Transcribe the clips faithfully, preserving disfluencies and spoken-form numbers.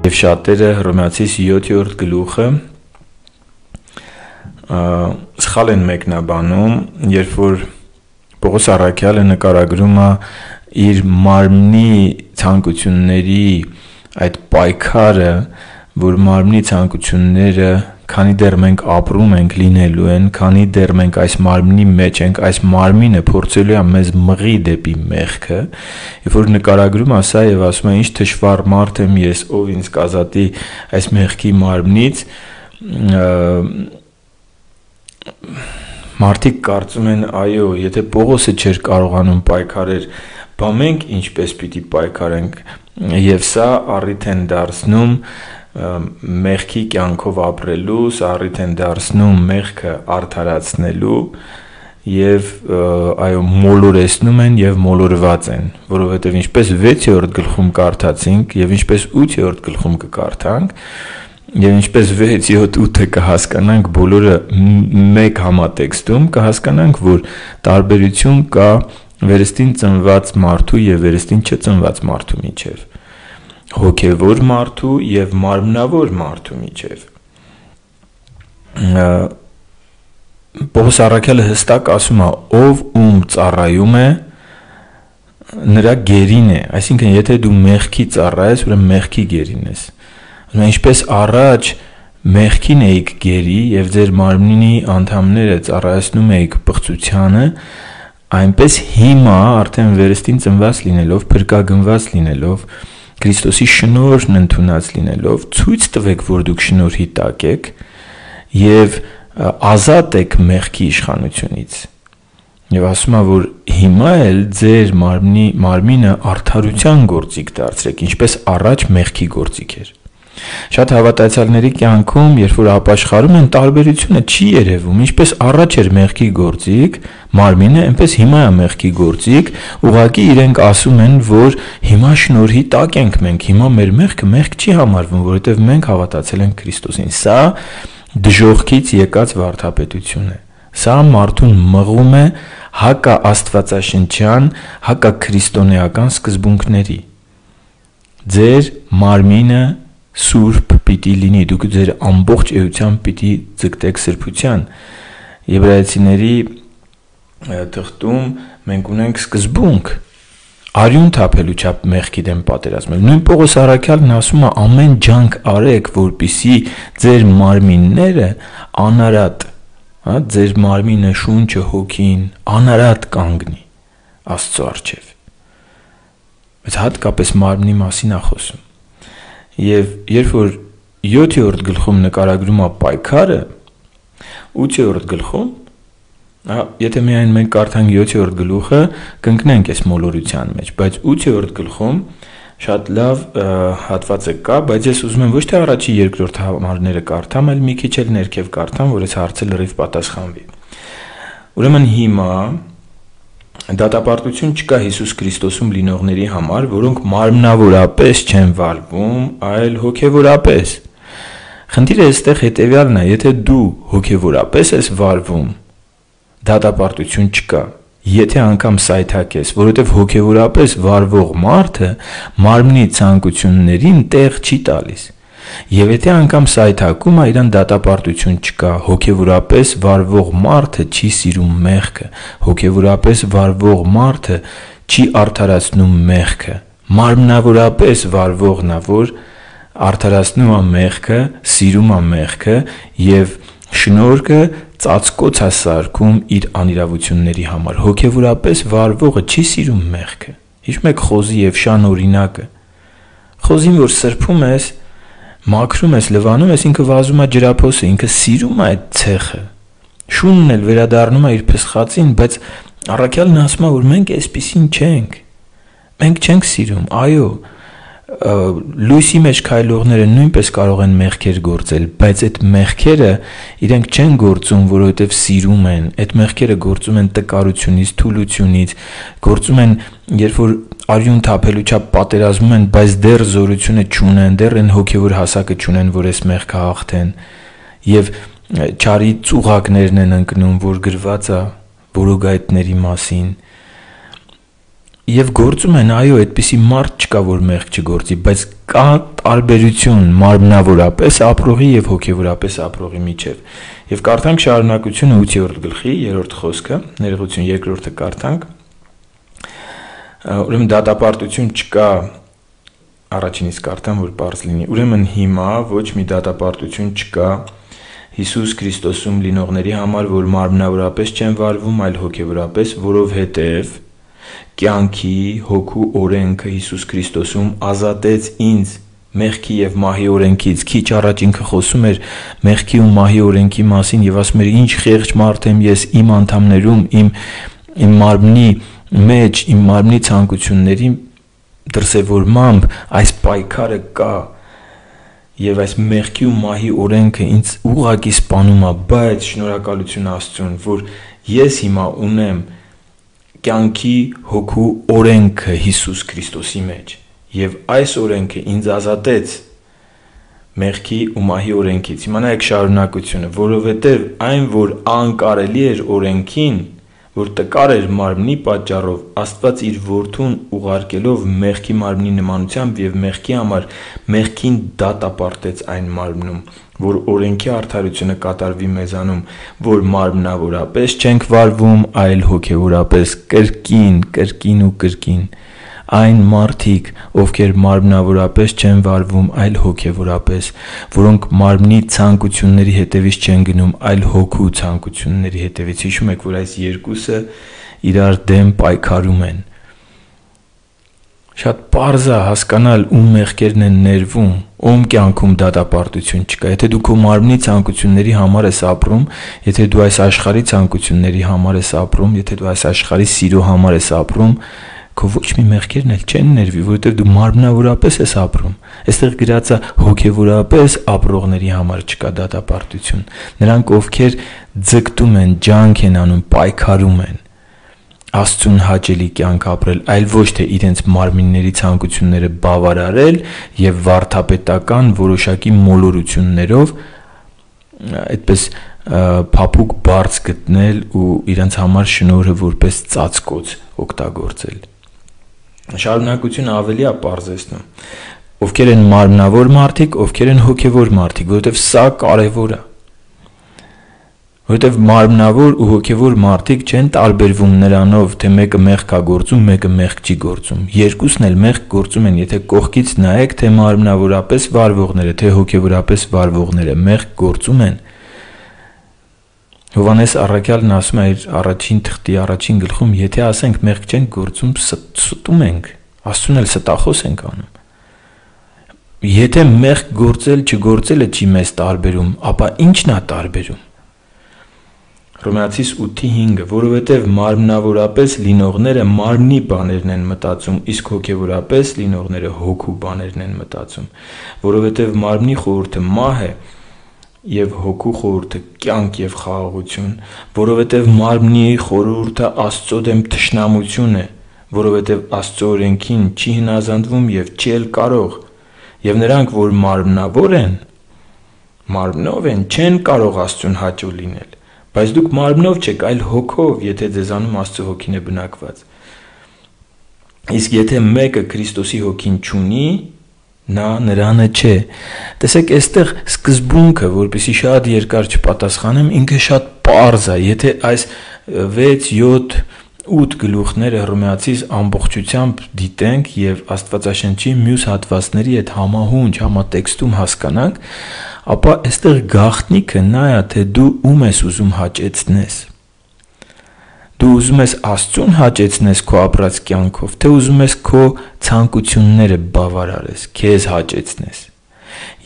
Եվ շատերը Հռոմեացիս յոթերորդ գլուխը սխալ են մեկնաբանում, երբ որ Պողոս առաքյալը նկարագրում է իր մարմնի ցանկությունների այդ պայքարը, որ մարմնի ցանկությունները, քանի դեռ մենք ապրում ենք, լինելու են, քանի դեռ մենք այս մարմնի մեջ ենք, այս մարմինը փորձելու է մեզ մղի դեպի մեղքը, երբ որ նկարագրում է սա եւ ասում է, ինչ թշվառ մարդ եմ ես, ով ինձ կազատի այս մեղքի մարմնից, մարդիկ կարծում են, այո, եթե Պողոսը չէր կարողանում պայքարել, բա մենք ինչպես պիտի պայքարենք, եւ սա առիթ են դարձնում մեղքի կյանքով ապրելու, սա առիթ են դարձնում մեղքը արդարացնելու եւ այո մոլորեցնում են եւ մոլորված են, որովհետեւ ինչպես վեցերորդ գլխում կարդացինք եւ ինչպես ութերորդ գլխում կկարդանք եւ ինչպես վեց, յոթ, ութը կհասկանանք բոլորը մեկ համատեքստում կհասկանանք, որ տարբերություն կա վերստին ծնված մարդու եւ վերստին չծնված մարդու միջեւ, հոգևոր մարդու եւ մարմնավոր մարդու միջեւ։ Պողոս առաքյալը հստակ ասում է, ով ում ծառայում է, նրա գերին է, այսինքն եթե դու մեղքի ծառայես, ուրեմն մեղքի գերին ես։ Ինչպես առաջ մեղքին էիք գերի եւ ձեր մարմնի անդամները ծառայեցնում էիք բղծությանը, այնպես հիմա արդեն վերստին ծնված լինելով, փրկագնված լինելով, Քրիստոսի շնորհն ընդունած լինելով, ցույց տվեք, որ դուք շնորհի տակ եք եւ ազատ եք մեղքի իշխանությունից։ Եվ ասում է, որ հիմա էլ ձեր մարմնի մարմինը արդարության գործիք դարձրեք, ինչպես առաջ մեղքի գործիք էր։ Շատ հավատացյալների կյանքում, երբ որ ապաշխարում են, տարբերությունը չի երևում, ինչպես առաջ էր մեղքի գործիք, մարմինը, այնպես հիմա է մեղքի գործիք, ուղղակի իրենք ասում են, որ հիմա շնորհի տակ ենք մենք, հիմա մեր մեղքը մեղք չի համարվում, որովհետև մենք հավատացել ենք Քրիստոսին։ Սա դժոխքից եկած վարդապետություն է։ Սա մարդուն մղում է հակա աստվածաշնչյան, հակա քրիստոնեական սկզբունքների։ Ձեր մարմինը սուրբ պիտի լինի, դուք ձեր ամբողջ էությամբ պիտի ձգտեք սրբության։ Եբրայեցիների թղթում մենք ունենք սկզբունք արյուն թափելու չափ մեղքի դեմ պատերազմել։ Նույն Պողոս առաքյալն ասում է, ամեն ջանք արեք, որպեսզի ձեր մարմինները անարատ, հա, ձեր մարմինը, շունչը, հոգին անարատ կանգնի Աստծո առջև։ Բայց հատկապես մարմնի մասին է խոսում։ Եվ երբ որ յոթերորդ գլխում նկարագրում է պայքարը, ութերորդ գլխում, եթե միայն մենք կարդանք յոթերորդ գլուխը, կընկնենք այս մոլորության մեջ, բայց ութերորդ գլխում շատ լավ հատված է կա, բայց ես ուզում եմ ոչ թե առաջի երկրորդ համարները կարդամ, այլ մի քիչ էլ ներքև կարդամ, որ այս հարցը լրիվ պատասխանվի։ Ուրեմն հիմա դատապարտություն չկա Հիսուս Քրիստոսում լինողների համար, որոնք մարմնավորապես չեն վարվում, այլ հոգևորապես։ Խնդիրը այստեղ հետևյալն է, եթե դու հոգևորապես ես վարվում, դատապարտություն չկա, եթե անգամ սայթակ ես, որովհետև հոգևորապես վարվող մարդը մարմնի ցանկություններին տեղ չի տալիս։ Եվ եթե անգամ սայթակում է, իրան դատապարտություն չկա, հոգևորապես վարվող մարդը չի սիրում մեղքը, հոգևորապես վարվող մարդը չի արդարացնում մեղքը, մարմնավորապես վարվողն է, որ արդարացնում է մեղքը, սիրում է մեղքը եւ շնորհքը ծածկոց է սարքում իր անիրավությունների համար։ Հոգևորապես վարվողը չի սիրում մեղքը։ Հիշում եք Խոզի եւ Շան օրինակը։ Խոզին, որ սրբում ես, մաքրում ես, լվանում ես, ինքը վազում է ջրափոսը, ինքը սիրում է այդ ցեխը։ Շունն էլ վերադառնում է իր փսխածին, բայց առաքյալն ասում է, որ մենք այսպեսին չենք։ Մենք չենք սիրում, այո, լույսի մեջ քայլողները նույնպես կարող են մեղքեր գործել, բայց այդ մեղքերը իրենք չեն գործում, որովհետև սիրում են, այդ մեղքերը գործում են տկարությունից, թուլությունից, գործում են, երբ որ արյուն թափելու չափ պատերազմում են, բայց դեռ զորությունը չունեն, դեռ են հոգևոր հասակը չունեն, որ այս մեղքը հաղթեն, եւ չարի ծուղակներն են ընկնում, որ գրված է որոգայթների մասին։ Եվ գործում են, այո, այդպիսի մարդ չկա, որ մեղք չգործի, բայց կա տարբերություն մարմնավորապես ապրողի եւ հոգեվորապես ապրողի միջեւ։ Եվ կարդանք շարունակությունը ութերորդ գլխի երրորդ խոսքը, ներողություն երկրորդը կարդանք։ Ուրեմն դատապարտություն չկա, առաջինից կարդամ, որ բարձ լինի։ Ուրեմն հիմա ոչ մի դատապարտություն չկա Հիսուս Քրիստոսում լինողների համար, որ մարմնավորապես չեն վարվում, այլ հոգեվորապես, որովհետև կյանքի հոգու օրենքը Հիսուս Քրիստոսում ազատեց ինձ մեղքի եւ մահի օրենքից։ Քիչ առաջ ինքը խոսում էր մեղքի ու մահի օրենքի մասին եւ ասում էր ինչ խեղճ մարդ եմ ես իմ անդամներում, իմ իմ մարմնի մեջ, իմ մարմնի ցանկությունների դրսևորմամբ այս պայքարը կա եւ այս մեղքի ու մահի օրենքը ինձ ուղղակի սպանում է, բայց շնորհակալություն Աստծուն, որ ես հիմա ունեմ կյանքի հոգու օրենքը Հիսուս Քրիստոսի մեջ եւ այս օրենքը ինձ ազատեց մեղքի ու մահի օրենքից։ Հիմա նայեք շարունակությունը, որովհետեւ այն, որ անկարելի էր օրենքին, որ տկար էր մարմնի պատճառով, Աստված իր որդուն ուղարկելով մեղքի մարմնի նմանությամբ եւ մեղքի համար մեղքին դատապարտեց այն մարմնում, որ օրենքի արդարությունը կատարվի մեզանում, որ մարմնավորապես չենք վարվում, այլ հոգեվորապես, կրկին, կրկին ու կրկին։ Այն մարդիկ, ովքեր մարմնավորապես չեն վարվում, այլ հոգեվորապես, որոնք մարմնի ցանկությունների հետևից չեն գնում, այլ հոգու ցանկությունների հետևից։ Հիշում եք, որ այս երկուսը իրար դեմ պայքարում են։ Շատ պարզ է հասկանալ ում մեղքերն են ներվում, ում կյանքում դատապարտություն չկա։ Եթե դու քո մարմնի ցանկությունների համար ես ապրում, եթե դու այս աշխարհի ցանկությունների համար ես ապրում, եթե դու այս աշխարհի սիրո համար ես ապրում, քո ոչ մի մեղքերն էլ չեն ներվի, որովհետև դու մարմնավորապես ես ապրում։ Այստեղ գրած է հոգեվորապես ապրողների համար չկա դատապարտություն։ Նրանք, ովքեր ձգտում են, ջանք են անում, պայքարում են Աստծուն հաճելի կյանք ապրել, այլ ոչ թե իրենց մարմինների ցանկությունները բավարարել եւ վարդապետական որոշակի մոլորություններով այդպես փափուկ բարձ գտնել ու իրենց համար շնորհը որպես ծածկոց օգտագործել։ Շարունակությունը ավելի է պարզեցնում, ովքեր են մարմնավոր մարդիկ, ովքեր են հոգևոր մարդիկ, որովհետև սա կարևոր է։ Որովհետև մարմնավոր ու հոգևոր մարդիկ չեն տարբերվում նրանով, թե մեկը մեղք է գործում, մեկը մեղք չի գործում։ Երկուսն էլ մեղք գործում են, եթե կողքից նայեք, թե մարմնավորապես վարվողները, թե հոգևորապես վարվողները մեղք գործում են։ Հովհաննես առաքյալն ասում է իր առաջին թղթի առաջին գլխում, եթե ասենք մեղք չենք գործում, ստում ենք, Աստծուն էլ ստախոս ենք անում։ Եթե մեղք գործել, չգործելը չի մեզ տարբերում, ապա ի՞նչն է տարբերում։ Հռոմեացիս ութի հինգը, որովհետև մարմնավորապես լինողները մարմնի բաներն են մտածում, իսկ հոգևորապես լինողները հոգու բաներն են մտածում, որովհետև մարմնի խորհուրդը մահ է եւ հոգու խորհուրդը կյանք եւ խաղաղություն, որովհետեւ մարմնի խորհուրդը Աստծո դեմ թշնամություն է, որովհետեւ Աստծո օրենքին չի հնազանդվում եւ չի էլ կարող, եւ նրանք, որ մարմնավոր են, մարմնով են, չեն կարող Աստծուն հաճո լինել, բայց դուք մարմնով չեք, այլ հոգով, եթե ձեզանում Աստծո հոգին է բնակված։ Իսկ եթե մեկը Քրիստոսի հոգին չունի, նա նրանը չէ։ Տեսեք, այստեղ սկզբունքը, որպեսզի շատ երկար չպատասխանեմ, ինքը շատ պարզ է։ Եթե այս վեց, յոթ, ութ գլուխները Հռոմեացիս ամբողջությամբ դիտենք եւ Աստվածաշնչի մյուս հատվածների հետ համահունչ, համատեքստում հասկանանք, ապա այստեղ գաղտնիքը նա է, թե դու ում ես ուզում հաճեցնես։ Դու ուզում ես Աստծուն հաճեցնես քո ապրած կյանքով, թե ուզում ես քո ցանկությունները բավարարես, քեզ հաճեցնես։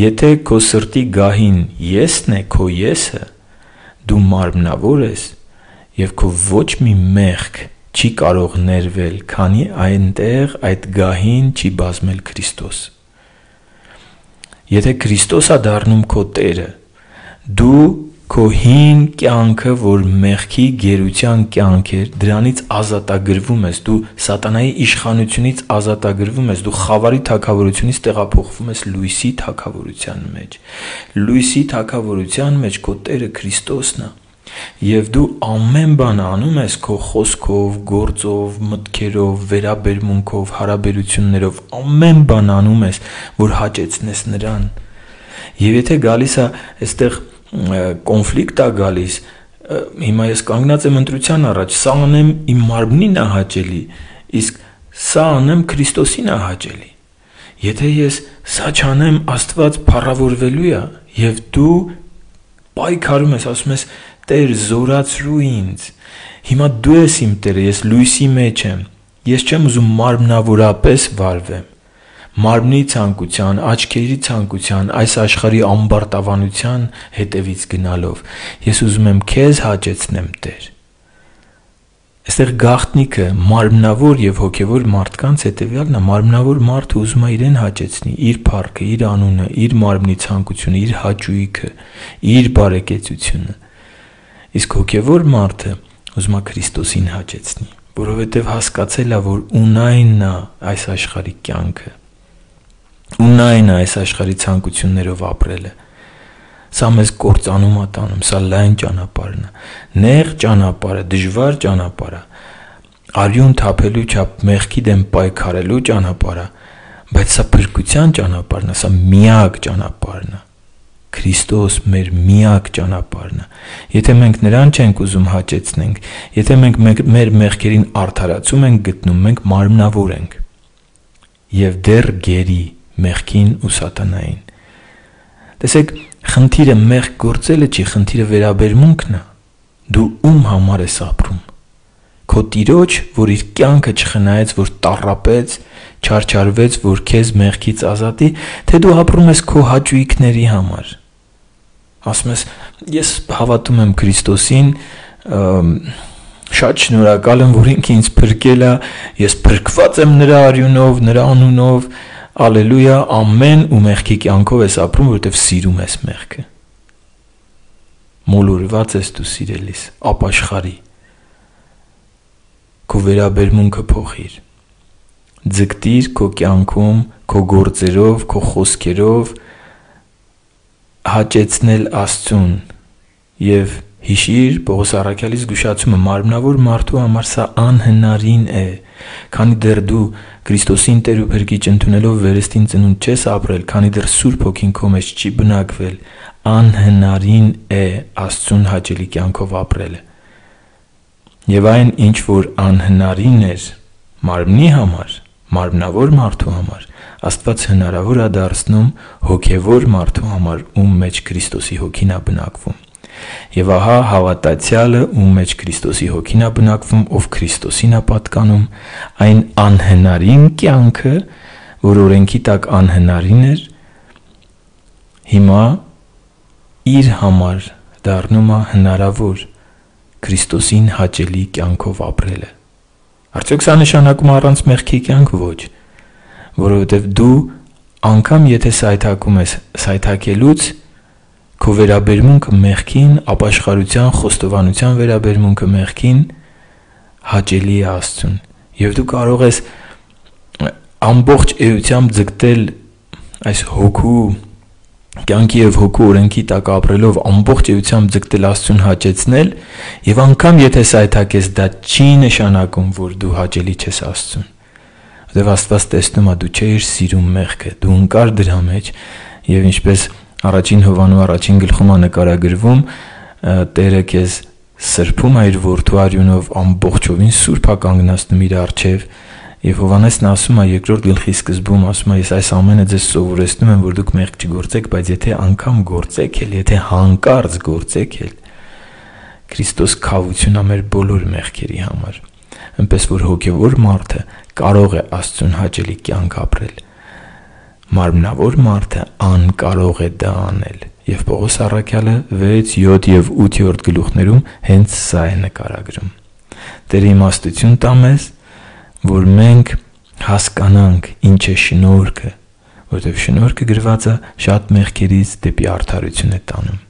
Եթե քո սրտի գահին եսն է, քո եսը, դու մարմնավոր ես եւ քո ոչ մի մեղք չի կարող ներվել, քանի այնտեղ այդ գահին չի բազմել Քրիստոս։ Եթե Քրիստոս է դառնում քո Տերը, դու քո հին կյանքը, որ մեղքի գերության կյանք էր, դրանից ազատագրվում ես, դու սատանայի իշխանությունից ազատագրվում ես, դու խավարի թագավորությունից տեղափոխվում ես լույսի թագավորության մեջ։ Լույսի թագավորության մեջ քո Տերը Քրիստոսն է։ Եվ դու ամեն բան անում ես քո խոսքով, գործով, մտքերով, վերաբերմունքով, հարաբերություններով, ամեն բան անում ես, որ հաճեցնես նրան։ Եվ եթե գալիս է այստեղ կոնֆլիկտ է գալիս, հիմա ես կանգնած եմ ընտրության առաջ, սա անեմ իմ մարմնին է հաճելի, իսկ սա անեմ Քրիստոսին է հաճելի։ Եթե ես սա չանեմ, Աստված փառավորվելու է, եւ դու պայքարում ես, ասում ես, Տեր, զորացրու ինձ։ Հիմա դու ես իմ Տերը, ես լույսի մեջ եմ։ Ես չեմ ուզում մարմնավորապես վարվեմ։ Մարմնի ցանկության, աչքերի ցանկության, այս աշխարհի ամբարտավանության հետևից գնալով, ես ուզում եմ քեզ հաճեցնեմ, Տեր։ Այստեղ գաղտնիքը մարմնավոր եւ հոգեվոր մարդկանց հետեւյալն է, մարմնավոր մարդը ուզում է իրեն հաճեցնի, իր փառքը, իր անունը, իր մարմնի ցանկությունը, իր հաճույքը, իր բարեկեցությունը։ Իսկ հոգևոր մարդը ուզում է Քրիստոսին հաճեցնի, որովհետև հասկացել է, որ ունայնն է այս աշխարհի կյանքը, ունայն է այս աշխարհի ցանկություններով ապրելը։ Սա մեզ կործանում է տանում, սա լայն ճանապարհն է, նեղ ճանապարհը, դժվար ճանապարհը, արյուն թափելու չափ մեղքի դեմ պայքարելու ճանապարհը, բայց սա փրկության ճանապարհն է, սա միակ ճանապարհն է։ Քրիստոս մեր միակ ճանապարհն է։ Եթե մենք նրան չենք ուզում հաճեցնենք, եթե մենք մեր մեղքերին արդարացում ենք գտնում, մենք մարմնավոր ենք եւ դեռ գերի մեղքին ու սատանային։ Տեսեք, խնդիրը մեղք գործելը չի, խնդիրը վերաբերմունքն է։ Դու ում համար ես ապրում։ Քո Տիրոջ, որ իր կյանքը չխնայեց, որ տառապեց, չարչարվեց, որ քեզ մեղքից ազատի, թե դու ապրում ես քո հաճույքների համար։ Ասում ես, ես հավատում եմ Քրիստոսին, շատ շնորհակալ եմ, որ ինքը ինձ փրկել է, ես փրկված եմ նրա արյունով, նրա անունով, ալելույա, ամեն ու մեղքի կյանքով ես ապրում, որովհետև սիրում ես մեղքը։ Մոլորված ես դու սիրելիս, ապաշխարի։ Քո վերաբերմունքը փոխիր։ Ձգտիր քո կյանքում, քո գործերով, քո խոսքերով հաճեցնել Աստծուն եւ հիշիր Պողոս առաքյալի զգուշացումը մարմնավոր մարդու համար սա անհնարին է, քանի դեռ դու Քրիստոսին Տեր ու Փրկիչ ընդունելով վերստին ծնունդ չես ապրել, քանի դեռ Սուրբ Հոգին քո մեջ չի բնակվել, անհնարին է Աստծուն հաճելի կյանքով ապրելը։ Եվ այն ինչ որ անհնարին էր մարմնի համար, մարմնավոր մարդու համար, Աստված հնարավոր է դարձնում հոգևոր մարդու համար, ում մեջ Քրիստոսի հոգին է բնակվում։ Եվ ահա հավատացյալը, ում մեջ Քրիստոսի հոգին է բնակվում, ով Քրիստոսին է պատկանում, այն անհնարին կյանքը, որ օրենքի տակ անհնարին էր, հիմա իր համար դառնում է հնարավոր Քրիստոսին հաճելի կյանքով ապրելը։ Արդյոք սա նշանակում է առանց մեղքի կյանք? Ոչ, որովհետև դու անգամ եթե սայթակում ես, սայթակելուց քո վերաբերմունքը մեղքին, ապաշխարության, խոստովանության վերաբերմունքը մեղքին հաճելի է Աստծուն։ Եվ դու կարող ես ամբողջ էությամբ ձգտել այս հոգու կյանքի եւ հոգու օրենքի տակ ապրելով ամբողջ էությամբ ձգտել Աստծուն հաճեցնել, եւ անգամ եթե սայթակես, դա չի նշանակում, որ դու հաճելի ես Աստծուն։ Որտեւ Աստված տեսնում է դու չէիր սիրում մեղքը, դու ընկար դրա մեջ, եւ ինչպես Առաջին Հովանու առաջին գլխում է նկարագրվում, Տերը քեզ սրբում է իր որդու արյունով, ամբողջովին սուրբ է կանգնացնում իր առջև, եւ Հովանեսն ասում է երկրորդ գլխի սկզբում, ասում է, ես այս ամենը ձեզ սովորեցնում եմ, որ դուք մեղք չգործեք, բայց եթե անգամ գործեք էլ, եթե հանկարծ գործեք էլ, Քրիստոս քավություն է մեր բոլոր մեղքերի համար։ Այնպես որ հոգևոր մարդը կարող է Աստծուն հաճելի կյանք ապրել։ Մարմնավոր մարդը անկարող է դա անել, եւ Պողոս առաքյալը վեց, յոթ եւ ութ գլուխներում հենց սա է նկարագրում։ Տերը իմաստություն տա մեզ, որ մենք հասկանանք ինչ է շնորհքը, որովհետև շնորհքը գրված է շատ մեղքերից դեպի արդարություն է տանում։